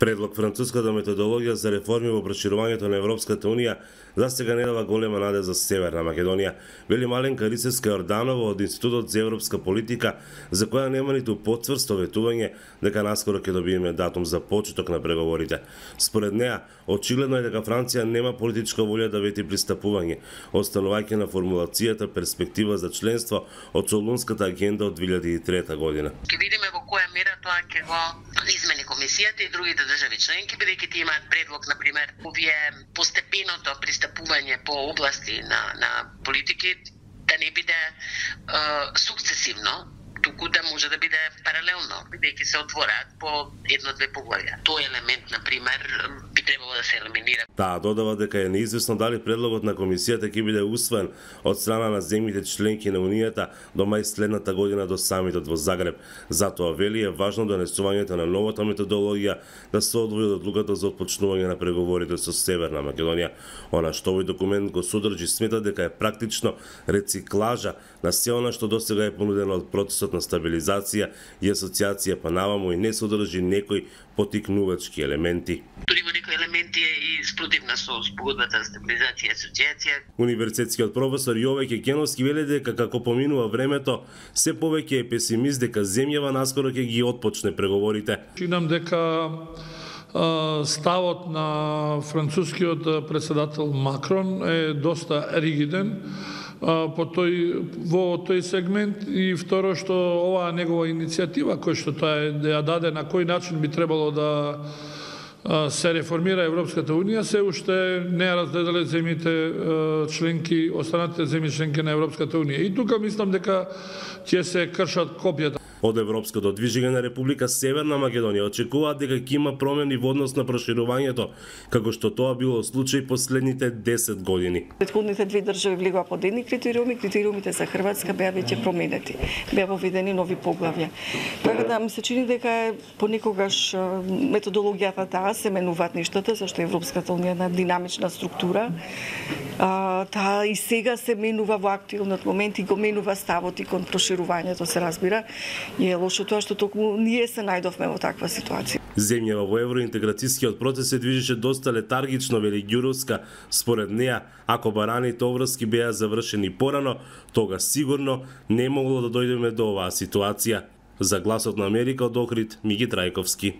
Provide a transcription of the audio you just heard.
Предлог француската методологија за реформи во проширувањето на Европската Унија за сега не дава голема наде за Северна Македонија, вели Маленка Рисевска-Јорданова од Институтот за европска политика, за која нема ниту потврсто ветување дека наскоро ќе добиеме датум за почеток на преговорите. Според неа, очигледно е дека Франција нема политичка волја да вети пристапување, останувајќи на формулацијата перспектива за членство од Солунската агенда од 2003 година. Ќе видиме во која мера тоа ќе го измени комисијата и другите држави членки, бидејќи тие имаат предлог, например, овие постепеното пристапување по области на политики да не биде сукцесивно, туку да може да биде паралелно, бидејќи се отвораат по едно-две поглавја. Тој елемент, например, би требало да се елиминира. Таа додава дека е неизвестно дали предлогот на комисијата ќе биде усвоен од страна на земјите членки на Унијата до мај следната година до самитот во Загреб. Затоа вели е важно донесувањето на новата методологија да се одвои од одлуката за отпочнување на преговорите со Северна Македонија. Она што овој документ го содржи смета дека е практично рециклажа на се она што досега е понудено од процесот на стабилизација и асоциација, па наваму и не содржи некои потикнувачки елементи. Дури во некои елементи е и спротивна со спогодбата за стабилизација и асоциација. Универзитетскиот професор Јове Кекеновски вели дека како поминува времето, се повеќе е песимист дека земјава наскоро ќе ги отпочне преговорите. Чинам дека ставот на францускиот председател Макрон е доста ригиден во тој сегмент, и второ што оваа негова иницијатива која што тоа ја даде на кој начин би требало да се реформира Европската Унија, се уште не ја разгледале земјите членки, останатите земји членки на Европската Унија. И тука мислам дека ќе се кршат копјата. Од Европското движење на Република Северна Македонија очекуваат дека ќе има промени во однос на проширувањето, како што тоа било случај последните 10 години. Претходните две држави влегоа под едни критериуми, критериумите за Хрватска беа веќе променети. Беа воведени нови поглавја. Така да ми се чини дека понекогаш методологијата таа се менуваат нештата, зашто Европската Унија е една динамична структура. Таа и сега се менува во актуелниот момент и го менува ставот и кон проширувањето, се разбира. И е лошо тоа што токму ние се најдовме во таква ситуација. Земјава во евроинтеграцијскиот процес се движеше доста летаргично, вели Ѓуровска. Според неа, ако бараните обврски беа завршени порано, тога сигурно не могло да дојдеме до оваа ситуација. За Гласот на Америка од Охрид, Миги Трајковски.